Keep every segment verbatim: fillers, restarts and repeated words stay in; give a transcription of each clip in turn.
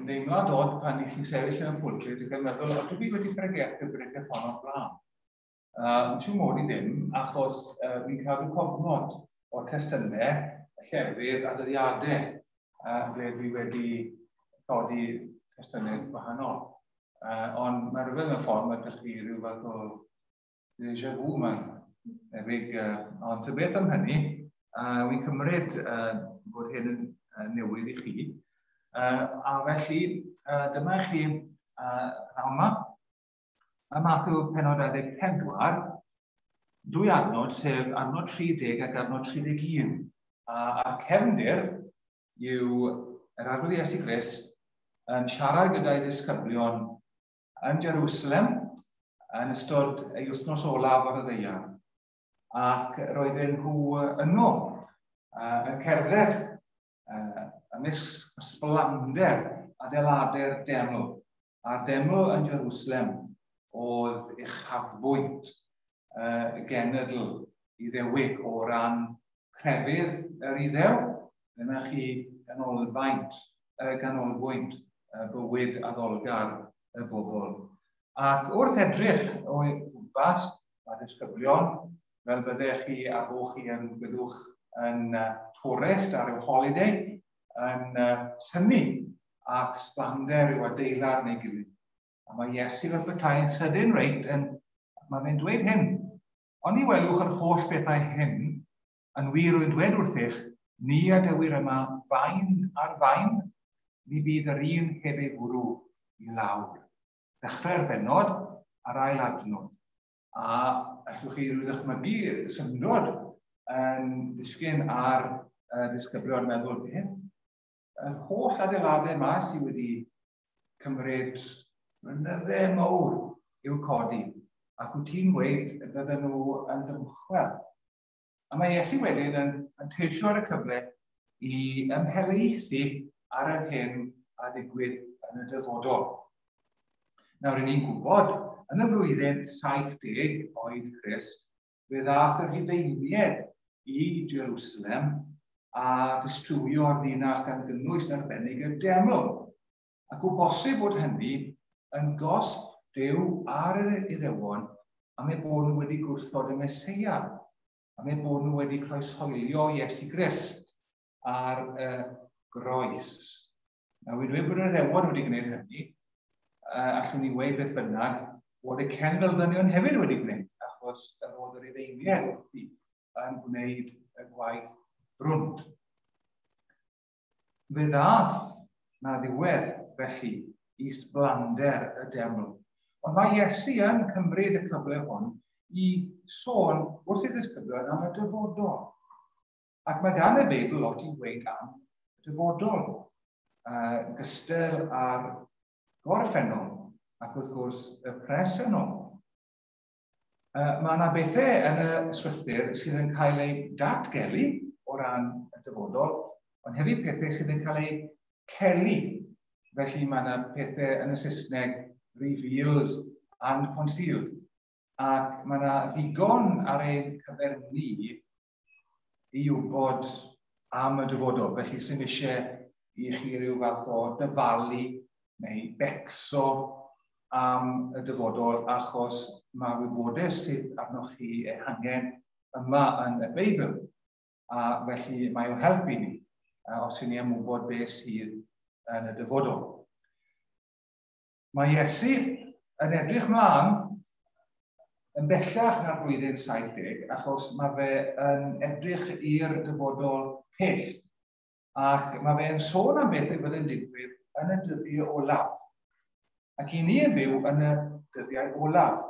deimlad od pan i chi'n sefyll yn y pwlpit ac yn meddwl, o, dwi wedi pregethu bregeth hon o'r blaen. Uh, Siw mod i ddim, achos uh, fi'n cadw cofnod o'r testunau, y llefydd a dyddiadau uh, ble dwi wedi codi testunau gwahanol. Uh, ond mae rhywbeth mewn ffordd, mae ydych chi rhyw fath o déjà vu mae'n debyg. Uh, ond ta beth am hynny, uh, wy'n cymryd uh, bod hyn yn uh, newydd i chi. Uh, a felly, uh, dyma i chi uh, pnawn yma. Mae Mathew pennod dau ddeg pedwar, dwy adnod, sef adnod tri deg ac adnod tri deg un. A, a'r cefndir yw yr Arglwydd Iesu Grist yn siarad gyda'i ddisgyblion yn Jerusalem yn ystod ei wythnos olaf ar y ddaear. Ac roedden nhw yno uh, yn cerdded uh, ymysg ysblander adeiladau'r deml. A'r deml yn Jerusalem oedd uchafbwynt uh, y genedl Iddewig o ran crefydd yr Iddew. Dyna chi ganolfaint, uh, ganolbwynt uh, bywyd addolgar y bobl. Ac wrth edrych o gwmpas, mae disgyblion, fel byddech chi a bo chi yn byddwch yn uh, tourist ar ryw holiday, yn uh, synnu at sblander yw adeilad neu gilydd. A mae Iesu fel petai yn sydyn reit, yn, mae fe'n dweud hyn. Ond ni welwch yr holl bethau hyn, yn wir rwy'n dweud wrthych, ni adewir yma faen ar faen, ni bydd yr un heb ei fwrw i lawr. Dechrau'r bennod a'r ail adnod. A allwch chi rhyw ddychmygu syndod yn disgyn ar uh, disgyblion meddwl beth. Yr holl adeiladau yma sydd wedi cymryd mlynyddau mawr i'w codi, ac wyt ti'n gweud y bydden nhw yn dymchwel. A mae Iesu wedyn yn, yn teisio ar y cyfle i ymhelaethu ar yr hyn a ddigwydd yn y dyfodol. Nawr, ry'n ni'n gwybod, yn y flwyddyn saith deg oed Crist, fe ddaeth y Rhufeiniaid i Jerusalem a distrywio'r ddinas gan gynnwys yn arbennig y deml. Ac o bosib bod hynny yn gosb Duw ar yr Iddewon am eu bod nhw wedi gwrthod y Meseia, am eu bod nhw wedi croeshoelio Iesu Grist ar y groes. Nawr, wy'n dweud bod yr Iddewon wedi gwneud hynny, uh, allwn ni weud beth bynnag, bod y cenfel-ddynion hefyd wedi gwneud, achos yr oedd yr Rhufeiniaid wrthi yn gwneud y gwaith brwnt. Fe ddath na ddiwedd, felly, i sblander y deml. Ond mae Iesu yn cymryd y cyfle hwn i sôn wrth ei ddisgyblion am y dyfodol. Ac mae gan y Beibl lot i weud am y dyfodol, uh, gystal â'r gorffennol ac wrth gwrs y presennol. Uh, mae yna bethau yn y Swythur sydd yn cael eu datgelu o ran y dyfodol, ond hefyd pethau sydd yn cael eu celu. Felly mae yna pethau yn y Saesneg revealed and concealed. Ac mae yna ddigon ar ein cyfer ni i wybod am y dyfodol. Felly sy'n eisiau i chi ryw fath o dyfalu neu becso am y dyfodol, achos mae wybodaeth sydd arnoch chi ei hangen yma yn y Beibl. A felly mae o'n helpu ni os ydyn ni am wybod beth sydd yn y dyfodol. Mae Iesu yn edrych mlaen yn bellach na'r flwyddyn saith deg, achos mae fe yn edrych i'r dyfodol pell. Ac mae fe yn sôn am beth y bydd yn digwydd yn y dyddiau olaf. Ac i ni yn byw yn y dyddiau olaf.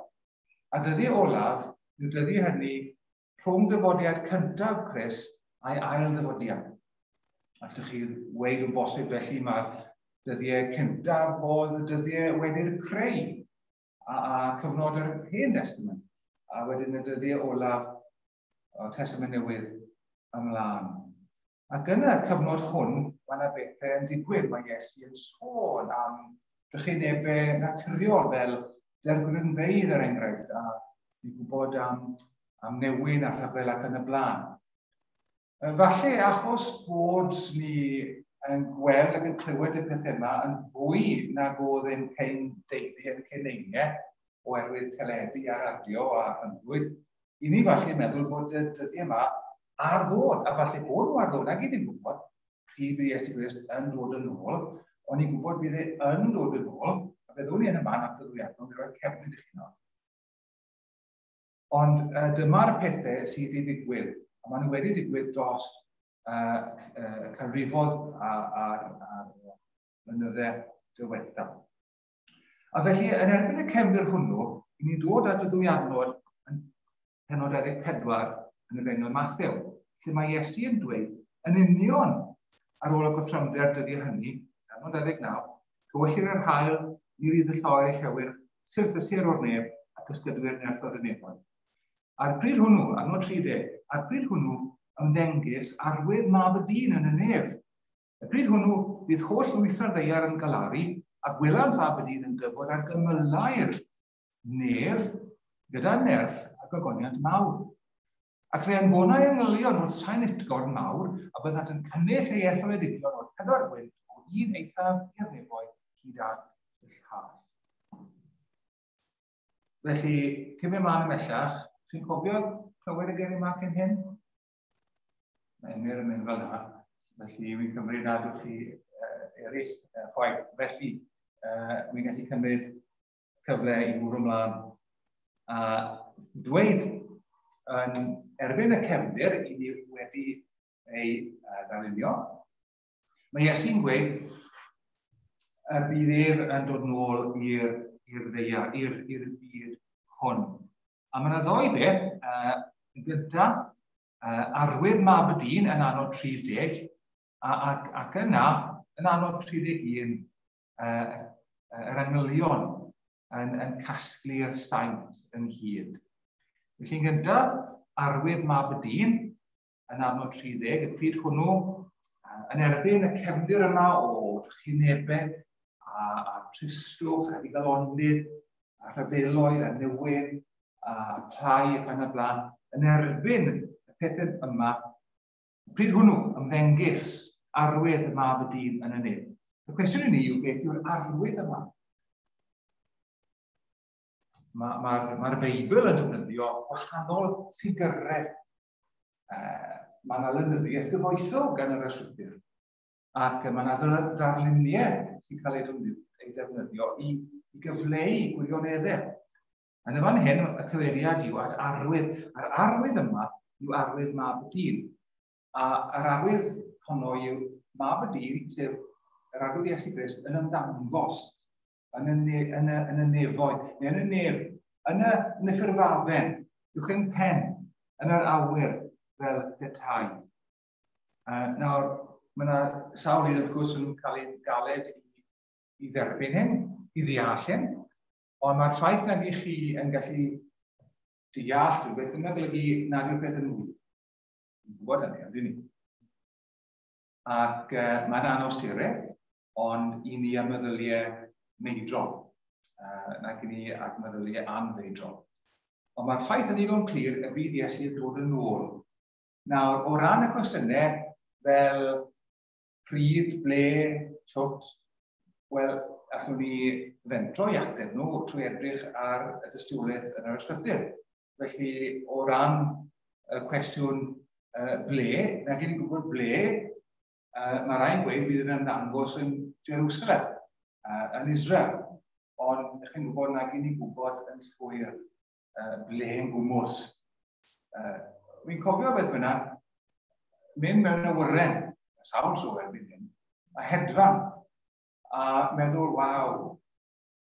A dyddiau olaf yw dyddiau hynny rhwng dyfodiad cyntaf Crist a'i ail ddyfodiad. Allwch chi weud yn bosib felly mae'r dyddiau cyntaf oedd y dyddiau wedi'r creu a, a cyfnod yr Hen Testament, a wedyn y dyddiau olaf o Testament Newydd ymlaen. Ac yn y cyfnod hwn, mae yna bethau yn digwydd. Mae Iesu yn sôn am drychinebau naturiol fel dergrynfeydd, er enghraifft, a ni'n gwybod am, am newyn a rhyfel ac yn y blaen. Falle achos bod ni yn gweld ac yn clywed y pethau yma yn fwy nag oedd ein cyn deulu yn cyn oherwydd teledu a radio a rhyngwyd, i ni falle meddwl bod y dyddiau yma ar ddod, a falle bod nhw ar ddod, ac i ni'n gwybod pryd bydd Iesu Grist yn dod yn ôl, ond ni'n gwybod bydd e yn dod yn ôl, a byddwn ni yn y man at y ddwy adnod, i roi cefnid i chi nawr. Ond uh, dyma'r pethau sydd i ddigwydd, a maen nhw wedi digwydd dros uh, uh, canrifoedd a'r mlynydde diwethaf. A felly, yn erbyn y cefndir hwnnw, i ni dod at y ddwy adnod yn pennod dau ddeg pedwar yn y Efengyl Mathew, lle mae Iesu yn dweud yn union ar ôl y gorthrymder dyddiau hynny, adnod dau ddeg naw, tywyllir yr haul, ni rydd y lloer ei llewyrch, syrthysir o'r nef ac ysgydwyr nerthoedd y nefoedd. A'r pryd hwnnw, adnod tri deg, a'r pryd hwnnw ymddengys arwydd mab y dyn yn y nef. Y pryd hwnnw bydd holl lwytho'r ddaear yn galaru, a gwelant fab y dyn yn dyfod ar gymylau'r nef gyda nerth a gogoniant mawr. Ac fe anfonai angylion wrth sain utgorn mawr, a byddant yn cynnull ei etholedigion o'r pedwar gwynt o un eithaf i'r nefoedd hyd at y llall. Felly, cyn mynd mlaen ymhellach, chi'n cofio clywed y geiriau yma cyn hyn? Mae Emyr yn mynd fel yna, felly wy'n cymryd nad yw'ch chi uh, eraill uh, chwaith. Felly, uh, wy'n gallu cymryd cyfle i fwrw ymlaen a dweud yn erbyn y cefndir i ni wedi ei uh, ddarlunio. Mae Iesu'n gweud y bydd ef yn dod nôl i'r ddaear, i'r byd hwn. A mae yna ddoi beth, uh, yn gyntaf, uh, arwydd mab y dyn yn anod tri deg, a, ac, ac yna, yn anod tri deg un, uh, yr angylion yn, yn casglu'r saint ynghyd. Felly yn gyntaf, arwydd mab y dyn yn anod tri deg, y pryd hwnnw, yn erbyn y cefndir yma o trychinebau a, a tristwch, a digalondid, a rhyfeloedd, a newyn, a plâu ac yn y blaen, yn erbyn y pethau yma, pryd hwnnw ymddengys arwydd mab y dyn yn y nef. Y cwestiwn i ni yw beth yw'r arwydd yma? Mae'r ma, ma, ma Beibl yn defnyddio gwahanol ffigurau. Uh, mae yna lenyddiaeth gyfoethog gan yr ysgrythur, ac mae yna ddarluniau sy'n cael ei defnyddio i, i gyfleu gwirioneddau. Yn y fan hyn, y cyfeiriad yw at arwydd, a'r arwydd yma yw arwydd mab y dyn. A yr arwydd honno yw mab y dyn, sef yr arwydd Iesu Grist, yn ymddangos yn y, ne, yn y, yn y nefoedd, neu yn y nef, yn y, yn y ffurfafen, uwch ein pen, yn yr awyr, fel petai. Uh, nawr, mae yna sawl un wrth gwrs yn cael ei galed i, i dderbyn hyn, i ddeall hyn, ond mae'r ffaith nag i chi yn gallu deall rhywbeth yn golygu nad yw'r peth yn wir. Yn gwybod hynny, ydyn ni. Ac uh, mae'n anawsterau, ond i ni am meddyliau meidrol, uh, nag i ni ag meddyliau anfeidrol. Ond mae'r ffaith yn ddigon clir y bydd Iesu yn dod yn ôl. Nawr, o ran y cwestiynau fel pryd, ble, shwt, wel, allwn ni fentro i ateb nhw trwy edrych ar y dystiolaeth yn yr ysgrythur. Felly, o ran y cwestiwn uh, ble, nag i ni'n gwybod ble, uh, mae rhai'n gweud bydd yn ymddangos yn Jerusalem, uh, yn Israel. Ond chi'n gwybod nag i ni'n gwybod yn llwyr uh, ble yn gwmws. Uh, Fi'n cofio beth bynnag, mynd mewn awyren, sawl tro erbyn hyn, a hedfan, a meddwl, waw,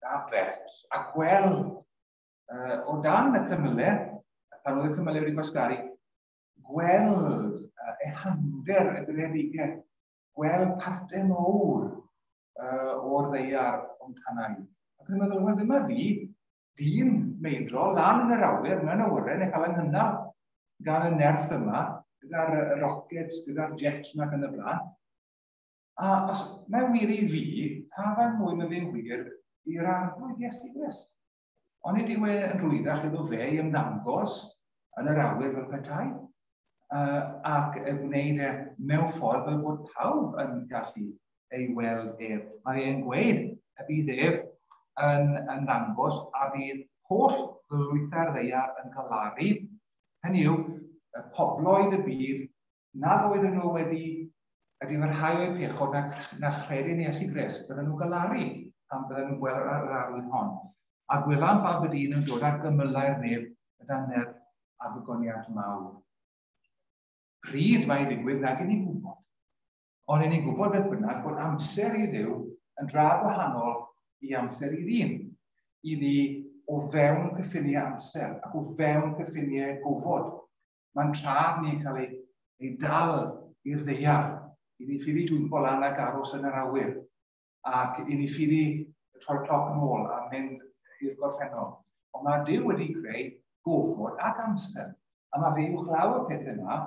da bert, a gweld uh, o dan y cymylau, pan oedd y cymylau wedi gwasgaru, gweld uh, ehangder y greadigaeth, gweld partau mawr uh, o'r ddaear o'n tanau. Ac yn meddwl, wel, dyma fi, dyn meidrol, lan yn yr awyr, mewn awyren, yn cael yng nghynnal gan y nerth yma, gyda'r rockets, gyda'r jets yma ac yn y blaen. A os mae'n wir i fi, pa faint mwy mae fe'n wir i'r arglwydd Iesu Grist? Ond nid yw e yn rhwyddach iddo fe i ymddangos yn yr awyr fel petai. uh, ac y gwneud e mewn ffordd fel bod pawb yn gallu ei weld ef. Mae e'n gweud y bydd ef yn, yn ddangos a bydd holl lwythau'r ddaear yn galaru. Hynny yw, y pobloedd y byd nad oedden nhw wedi ydy mae rhai o'i pechod na, na chredu'n Iesu Grist, bydden nhw'n galaru pan bydden nhw'n gweld yr arwydd hon. A gwelan Fab y Dyn yn dod ar gymylau'r nef gyda nerth a gogoniant mawr. Pryd mae i ddigwydd nag i ni'n gwybod. Ond i ni'n gwybod beth bynnag bod amser i Dduw yn dra gwahanol i amser i ddyn. I ni o fewn cyffiniau amser ac o fewn cyffiniau gofod. Mae'n trad ni'n cael ei, ei dal i'r ddaear. I ni ffili dwympo lan ac aros yn yr awyr. Ac i ni ffili troi'r cloc yn ôl a mynd i'r gorffennol. Ond mae Duw wedi creu gofod ac amser. A mae fe uwchlaw y pethau yma,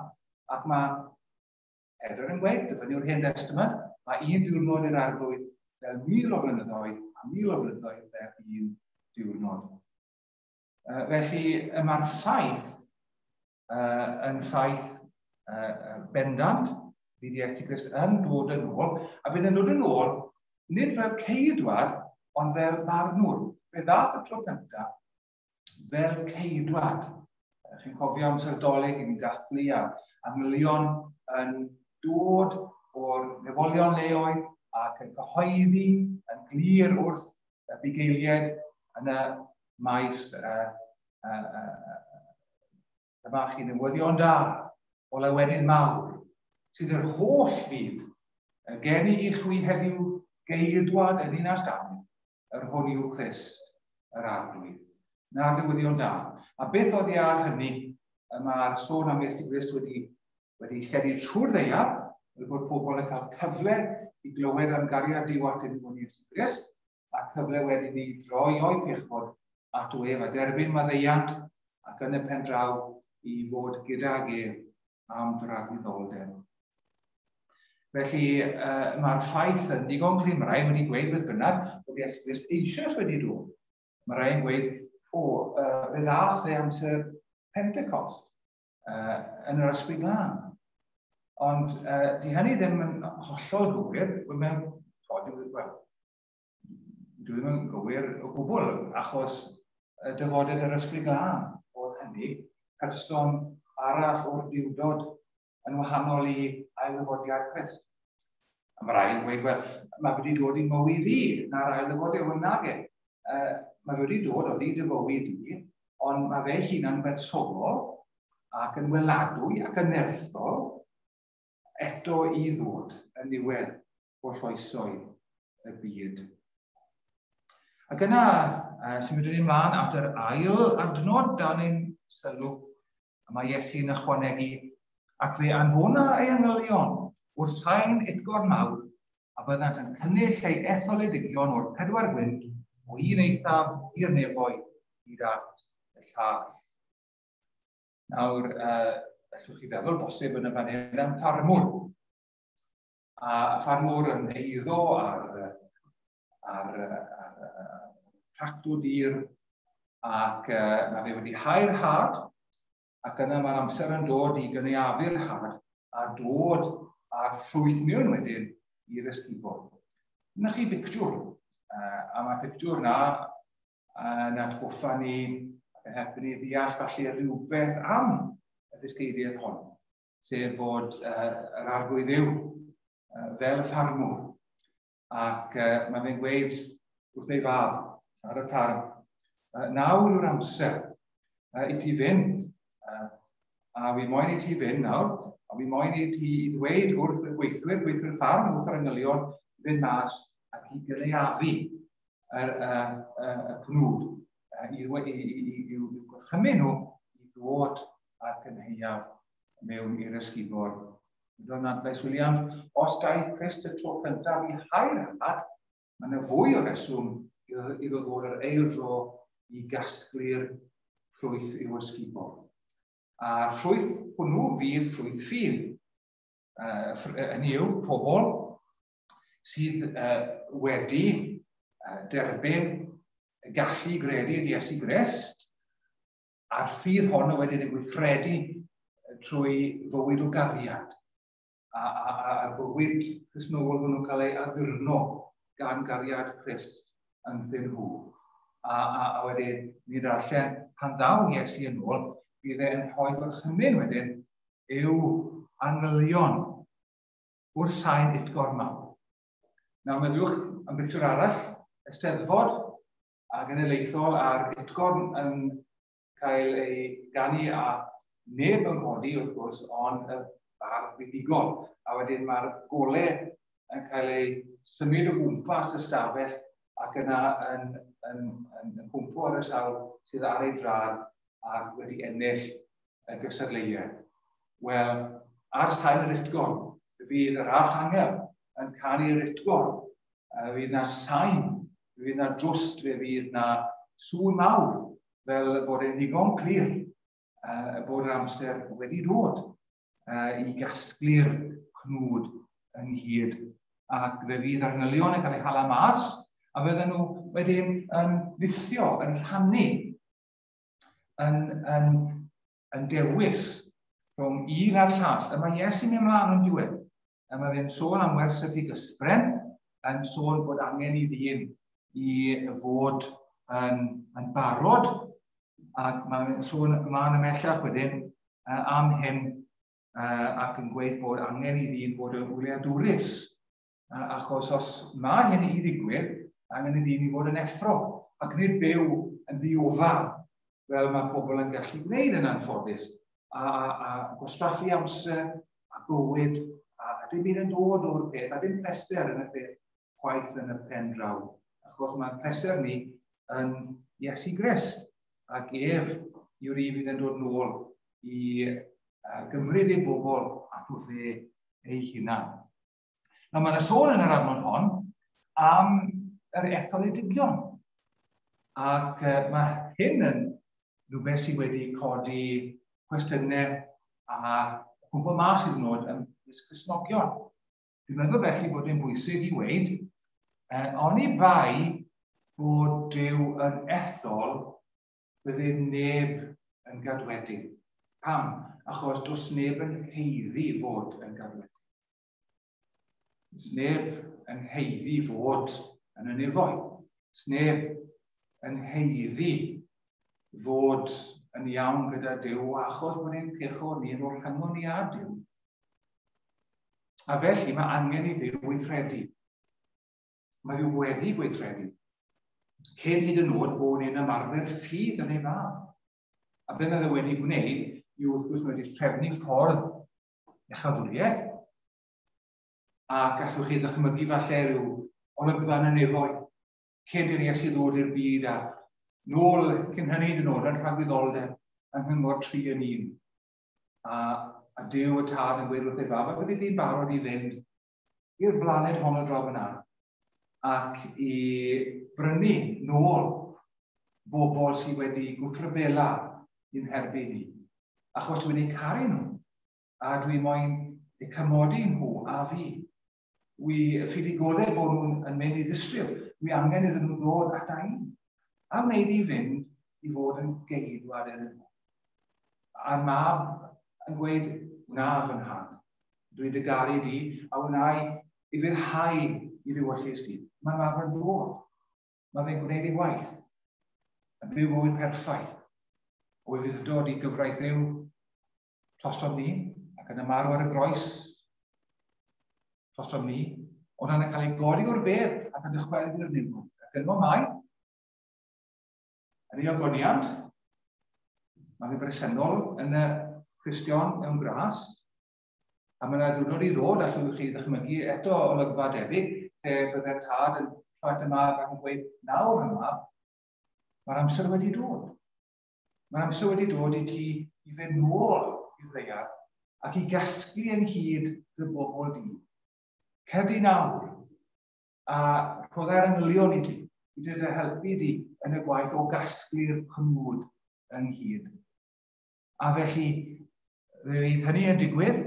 ac mae Pedr yn gweud, dyfynnu'r Hen Testament, mae un diwrnod i'r Arglwydd fel mil o flynyddoedd a mil o flynyddoedd fel un diwrnod. Uh, felly, mae'r ffaith uh, yn ffaith uh, bendant, bydd Iesu Grist yn dod yn ôl, a bydd yn dod yn ôl nid fel ceidwad, ond fel barnwr. Fe ddath y tro cyntaf fel ceidwad. Chi'n cofio amser Dolig i ni dathlu a angylion yn dod o'r nefolion leoedd ac yn cyhoeddi yn glir wrth y bugeiliaid yn y maes uh, uh, uh, dyma chi newyddion da o lawenydd mawr sydd yr holl fyd geni i chwi heddiw geidwad yn Ninas Dafydd, yr hwn yw Crist, yr Arglwydd. Na'r newyddion da. A beth oedd i ar hynny, mae'r sôn am Iesu Grist wedi, wedi lledu trwy'r ddaear, fel bod pobl yn cael cyfle i glywed am gariad Duw atyn nhw yn Iesu Grist, a cyfle wedyn i droi o'i pechod ato ef a derbyn maddeuant ac yn y pen draw i fod gydag ef am dragwyddoldeb. Felly uh, mae'r ffaith yn ddigon clir, mae rai wedi gweud beth bynnag bod Iesu Grist eisoes wedi dod. Mae rai yn gweud, o, uh, fe ddath e amser Pentecost uh, yn yr Ysbryd Glân. Ond uh, di hynny ddim yn hollol gywir, wel, dwi ddim yn gywir o gwbl, achos dyfoded yr Ysbryd Glân oedd hynny, person arall o'r diwdod yn wahanol i ailddyfodiad Crist. A mae rai yn gweud, wel, mae wedi dod i mywyd i, na'r ailddyfodiad, wel nage. Uh, mae wedi dod o di dy fywyd i, ond mae fe hunan bersonol ac yn weladwy ac yn nerthol eto i ddod yn niwedd holl oesoedd y byd. Ac yna, uh, symudwn ni ymlaen at yr ail adnod dan ein sylw, a mae Iesu'n ychwanegu, ac fe anfona ei angylion wrth sain utgorn mawr, a byddant yn cynnull ei etholedigion o'r pedwar gwynt o un eithaf i'r nefoedd hyd at y llall. Nawr, uh, allwch chi feddwl bosib yn y fan hyn am ffarmwr. A ffarmwr yn eiddo ar, ar, ar, ar tractwr dir, ac uh, mae fe wedi hau'r had, ac yna mae'r amser yn dod i gynaeafu'r had a dod â'r ffrwyth mewn wedyn i'r ysgubor. Dyna chi bictiwr, uh, a mae'r pictiwr na yn atgoffa ni ac yn helpu ni ddeall falle rhywbeth am y ddysgeidiaeth hon, sef bod uh, yr Arglwydd Dduw uh, fel y ffarmwr, ac uh, mae fe'n gweud wrth ei fab ar y ffarm, uh, nawr yw'r amser uh, i ti fynd, uh, a fi moyn i ti fynd nawr, a fi moyn i ti ddweud wrth y gweithwyr, gweithwyr ffarm, wrth yr angylion, fynd mas ac i gynaeafu y, y, y, y cnwd, i, i, i, i, i'w gorchymyn nhw i ddod â'r cynhaeaf mewn i'r ysgubor. Don Adlais Williams, os daeth Crist y tro cyntaf i hau'r had, mae yna fwy o reswm iddo ddod yr ail dro i gasglu'r ffrwyth i'w ysgubor. A'r ffrwyth hwnnw fydd ffrwyth ffydd. Uh, hynny yw, pobl sydd uh, wedi uh, derbyn y gallu i gredu yn Iesu Grist, a'r ffydd honno wedyn yn gweithredu trwy fywyd o gariad. A, a, a, a'r bywyd Cristnogol hwnnw'n cael ei addurno gan gariad Crist ynddyn nhw. A, a, a wedyn, ni ddarllen, pan ddaw Iesu yn ôl, bydd e'n rhoi gorchymyn wedyn i'w angylion wrth sain utgorn mawr. Nawr, meddyliwch am bictiwr arall, Eisteddfod a genedlaethol a'r utgorn yn cael ei ganu a neb yn codi, wrth gwrs, ond y bardd buddugol. A wedyn mae'r golau yn cael ei symud o gwmpas y stafell ac yna yn, yn, yn, yn cwmpo ar y sawl sydd ar ei drad ac wedi ennill y gystadleuaeth. Wel, ar sain yr utgorn, fydd yr archangel yn canu'r utgorn. Fydd na sain, fydd na drwst, fe fydd na sŵn mawr, fel bod e'n ddigon clir uh, bod yr amser wedi dod uh, i gasglu'r cnwd ynghyd. Ac fe fydd angylion yn cael eu hala mas, a fydden nhw wedyn yn rithio, yn rhannu, yn, yn, yn dewis rhwng un a'r llall. A mae Iesu'n mynd ymlaen yn diwedd. A mae fe'n sôn am wers y ffigysbren, yn sôn bod angen i ddyn i fod yn, yn barod, ac mae'n sôn ymlaen ymhellach wedyn am hyn, ac yn gweud bod angen i ddyn fod yn wyliadwrus, achos os mae hyn i ddigwydd, angen i ddyn i fod yn effro, ac nid byw yn ddiofal, fel mae pobl yn gallu gwneud yn anffodus, a, a, a gwastraffu amser, a bywyd, a, a dim byd yn dod o'r peth, a dim pleser yn y peth chwaith yn y pen draw. Achos mae'r pleser ni yn Iesu Grist, ac ef yw'r un fydd yn dod nôl i uh, gymryd ei bobl ato fe ei hunan. Nawr, mae yna sôn yn yr adnod hon am yr etholedigion. Ac uh, mae hyn yn rhywbeth sydd wedi codi cwestiynau a cwmpo mas iddyn nhw ym mysg Cristnogion. Dwi'n meddwl felly bod e'n bwysig i weud, eh, oni bai bod Duw yn ethol, bydde neb yn gadwedig. Pam? Achos does neb yn haeddu fod yn gadwedig. Does neb yn haeddu fod yn y nefoedd. Does neb yn haeddu fod yn iawn gyda Duw, achos bod ein pechod ni yn o'r rhyngon ni â Duw. A felly mae angen i Dduw weithredu. Mae Dduw wedi gweithredu. Cyn hyd yn oed bod ni'n ymarfer ffydd yn ei fab. A beth mae fe wedi gwneud yw wrth gwrs mae wedi trefnu ffordd iachawdwriaeth, a gallwch chi ddychmygu falle rhyw olygfa yn y nefoedd cyn i'r Iesu ddod i'r byd a nôl cyn hynny hyd yn oed yn rhagwyddoldeb yng nghyngor tri yn un. A, a Duw y Tad yn gweud wrth ei fab, a byddi di'n barod i fynd i'r blaned honno draw fyna ac i brynu nôl bobl sydd wedi gwrthryfela i'n herbyn ni. Achos dwi'n eu caru nhw, a dwi moyn eu cymodi nhw a fi. Wi ffili goddef bod nhw'n yn mynd i ddistryw. Dwi angen iddyn nhw ddod ata i. A wneud i fynd i fod yn geidwad iddyn nhw. A'r mab yn gweud, wna fy nhad, dwi dy garu di, a wna i i fyrhau i ddiwyllius di. Mae'r mab yn dod. Mae fe'n gwneud ei waith. Yn byw bywyd perffaith. O ufudd-dod i gyfraith Dduw drosom ni, ac yn ymarw ar y groes drosom ni, ond yna'n cael ei godi o'r bedd ac yn dychwelyd i'r nefoedd. Ac yno mae, yn ei ogoniant, mae fe bresennol yn y Cristion mewn gras, a mae yna ddiwrnod i ddod, allwch chi ddychmygu eto olygfa debyg, lle bydde'r tad yn troi at y mab ac yn gweud, nawr y mab, mae'r amser wedi dod. Mae'r amser wedi dod i ti i fynd nôl i'r ddaear ac i gasglu ynghyd dy bobl di. Cer di nawr a rhodda'r angylion i ti, i dy helpu di yn y gwaith o gasglu'r cnwd ynghyd. A felly, fe fydd hynny yn digwydd,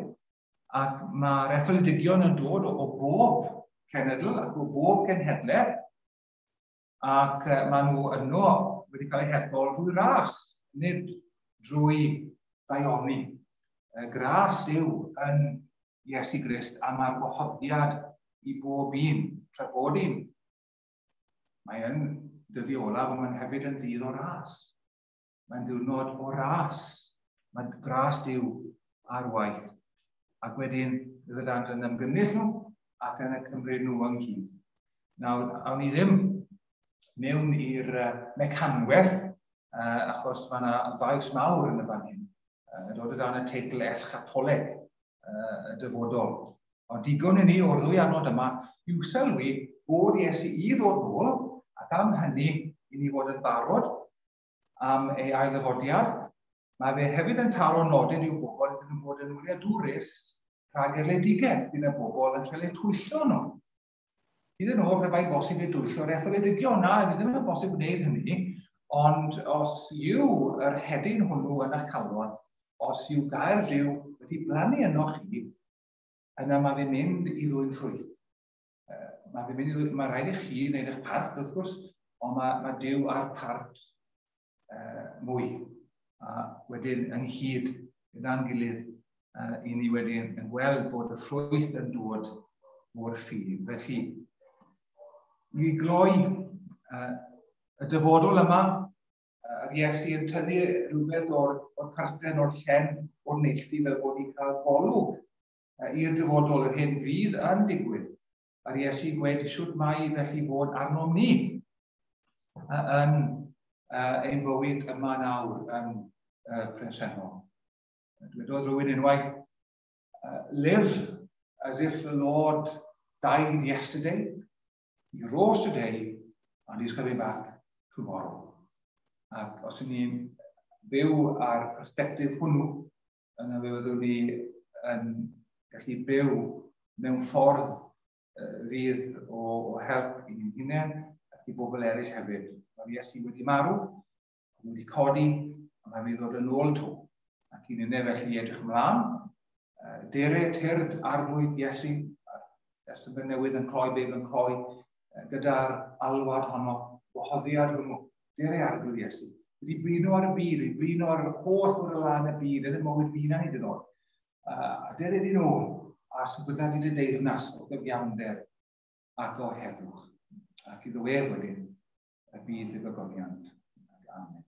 ac mae'r etholedigion yn dod o, o bob cenedl ac o bob cenhedlaeth, ac uh, maen nhw yno wedi cael eu hethol drwy ras, nid drwy ddaioni. Gras yw yn Iesu Grist a mae'r gwahoddiad i bob un, tra bod un. Mae yn dyddi olaf, ond mae'n hefyd yn ddydd o ras. Mae'n diwrnod o ras. Mae gras Duw ar waith. Ac wedyn, fe fyddant yn ymgynnull nhw ac yn y cymryd nhw ynghyd. Nawr, awn ni ddim mewn i'r mecanwaith, uh, achos mae yna faes mawr yn y fan hyn, uh, dod o dan y teitl eschatoleg uh, y dyfodol. Ond digon i ni o'r ddwy adnod yma yw sylwi bod Iesu i ddod nôl, ac am hynny i ni fod yn barod am ei ailddyfodiad. Mae fe hefyd yn taro nodyn i'w bobl iddyn nhw fod yn wyliadwrus rhag erledigaeth. Bydd y bobl yn cael eu twyllo nhw. Iddyn nhw, pe bai bosib i dwyllo'r etholedigion, na, fydd ddim yn bosib gwneud hynny, ond os yw yr hedyn hwnnw yn eich calon, os yw gair Duw wedi blannu yno chi, yna mae fe'n mynd i ddwyn ffrwyth. Mae fe'n mynd i ddwyn, mae rhaid i chi wneud eich parth, wrth gwrs, ond mae, mae Duw ar part uh, mwy. A wedyn ynghyd gyda'n gilydd, uh, i ni wedyn yn gweld bod y ffrwyth yn dod o'r ffydd. Felly, i gloi uh, y dyfodol yma, yr Iesu yn tynnu rhywbeth o'r, o'r carten, o'r llen, o'r neilltu, fel bod ni'n cael golwg uh, i'r dyfodol, yr hyn fydd yn digwydd. A'r Iesu gweud siwt mae felly fod arnom ni uh, yn uh, ein bywyd yma nawr yn uh, presennol. Dwedodd rhywun unwaith, uh, "Live as if the Lord died yesterday, he rose today, and he's coming back tomorrow." Ac os ydyn ni'n byw ar perspectif hwnnw, yna fe fyddwn ni yn gallu byw mewn ffordd fydd o, o help i ni'n hunain ac i bobl eraill hefyd. Mae Iesu wedi marw, wedi codi, a mae'n mynd i ddod yn ôl 'to. Ac i ni'n felly edrych ymlaen. Dere tyrd Arglwydd Iesu, Testament Newydd yn cloi, Beibl yn cloi, gyda'r alwad honno, gwahoddiad hwnnw, dere Arglwydd Iesu. Wedi blino ar y byd, wedi blino ar yr holl o'r lan y byd, yn y mywyd fi na hyd yn oed. A dere di nôl, a sefydla di dy deyrnas o gyfiawnder ac o heddwch. Ac iddo ef wedyn, y bydd y gogoniant. Amen.